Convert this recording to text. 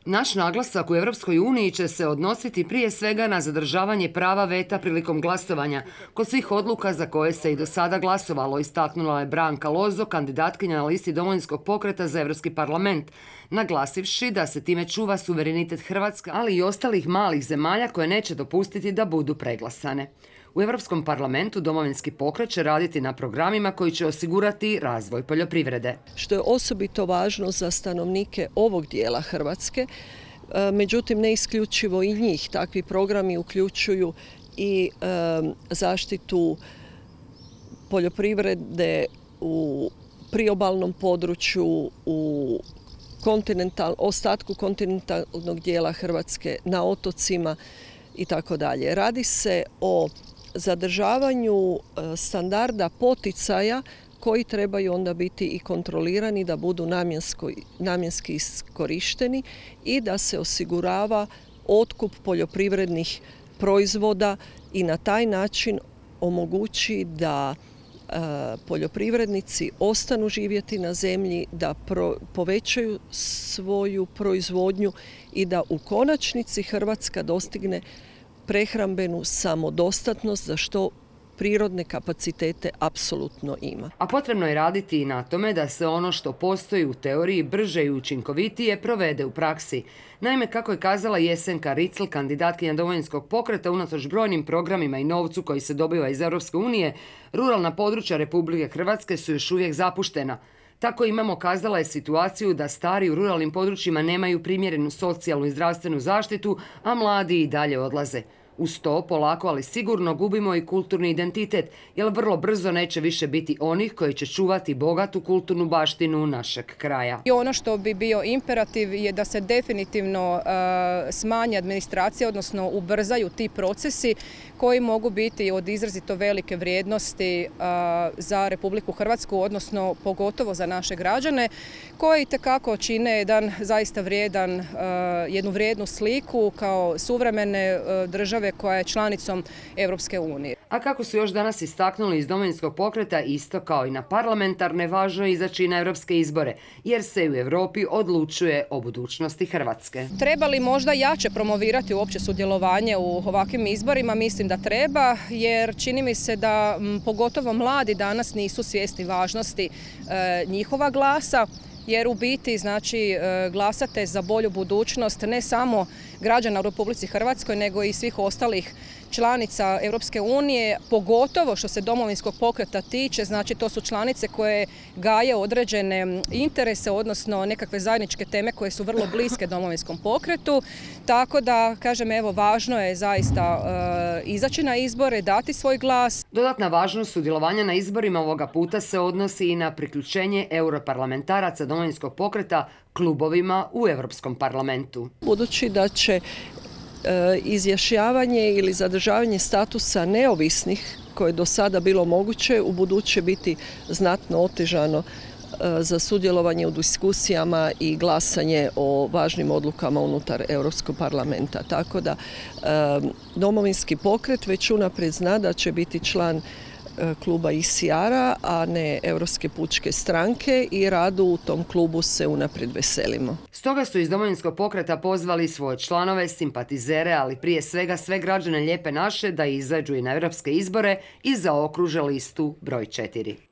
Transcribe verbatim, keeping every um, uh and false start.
Naš naglasak u Europskoj uniji će se odnositi prije svega na zadržavanje prava veta prilikom glasovanja kod svih odluka za koje se i do sada glasovalo, istaknula je Branka Lozo, kandidatkinja na listi Domovinskog pokreta za Europski parlament, naglasivši da se time čuva suverenitet Hrvatske, ali i ostalih malih zemalja koje neće dopustiti da budu preglasane. U Europskom parlamentu Domovinski pokret će raditi na programima koji će osigurati razvoj poljoprivrede. Što je osobito važno za stanovnike ovog dijela Hrvatske, međutim ne isključivo i njih. Takvi programi uključuju i zaštitu poljoprivrede u priobalnom području, u kontinental, ostatku kontinentalnog dijela Hrvatske, na otocima i tako dalje. Radi se o zadržavanju standarda poticaja koji trebaju onda biti i kontrolirani da budu namjenski iskorišteni i da se osigurava otkup poljoprivrednih proizvoda i na taj način omogući da poljoprivrednici ostanu živjeti na zemlji, da pro, povećaju svoju proizvodnju i da u konačnici Hrvatska dostigne prehrambenu samodostatnost, za što prirodne kapacitete apsolutno ima. A potrebno je raditi i na tome da se ono što postoji u teoriji brže i učinkovitije provede u praksi. Naime, kako je kazala Jesenka Ricl, kandidatkinja Domovinskog pokreta, unatoč brojnim programima i novcu koji se dobiva iz Europske unije, ruralna područja Republike Hrvatske su još uvijek zapuštena. Tako imamo, kazala je, situaciju da stari u ruralnim područjima nemaju primjerenu socijalnu i zdravstvenu zaštitu, a mladi i dalje odlaze. Uz to, polako ali sigurno gubimo i kulturni identitet, jer vrlo brzo neće više biti onih koji će čuvati bogatu kulturnu baštinu našeg kraja. I ono što bi bio imperativ je da se definitivno uh, smanji administracija, odnosno ubrzaju ti procesi koji mogu biti od izrazito velike vrijednosti uh, za Republiku Hrvatsku, odnosno pogotovo za naše građane, koji itekako čine jedan zaista vrijedan, uh, jednu vrijednu sliku kao suvremene uh, države koja je članicom Europske unije. A kako su još danas istaknuli iz Domovinskog pokreta, isto kao i na parlamentarne, važno je izaći na europske izbore, jer se u Europi odlučuje o budućnosti Hrvatske. Treba li možda jače promovirati uopće sudjelovanje u ovakvim izborima? Mislim da treba, jer čini mi se da m, pogotovo mladi danas nisu svjesni važnosti e, njihova glasa, jer u biti znači glasate za bolju budućnost ne samo građana u Republici Hrvatskoj, nego i svih ostalih članica Europske unije, pogotovo što se Domovinskog pokreta tiče, znači to su članice koje gaje određene interese, odnosno nekakve zajedničke teme koje su vrlo bliske Domovinskom pokretu, tako da, kažem, evo, važno je zaista e, izaći na izbore, dati svoj glas. Dodatna važnost sudjelovanja na izborima ovoga puta se odnosi i na priključenje europarlamentaraca Domovinskog pokreta klubovima u Europskom parlamentu. Budući da će izjašnjavanje ili zadržavanje statusa neovisnih, koje je do sada bilo moguće, u buduće biti znatno otežano za sudjelovanje u diskusijama i glasanje o važnim odlukama unutar Europskog parlamenta. Tako da Domovinski pokret već unaprijed zna da će biti član kluba I C R-a, a ne Europske pučke stranke, i radu u tom klubu se unaprijed veselimo. Stoga su iz Domovinskog pokreta pozvali svoje članove, simpatizere, ali prije svega sve građane Lijepe naše da izađu i na europske izbore i zaokruže listu broj četiri.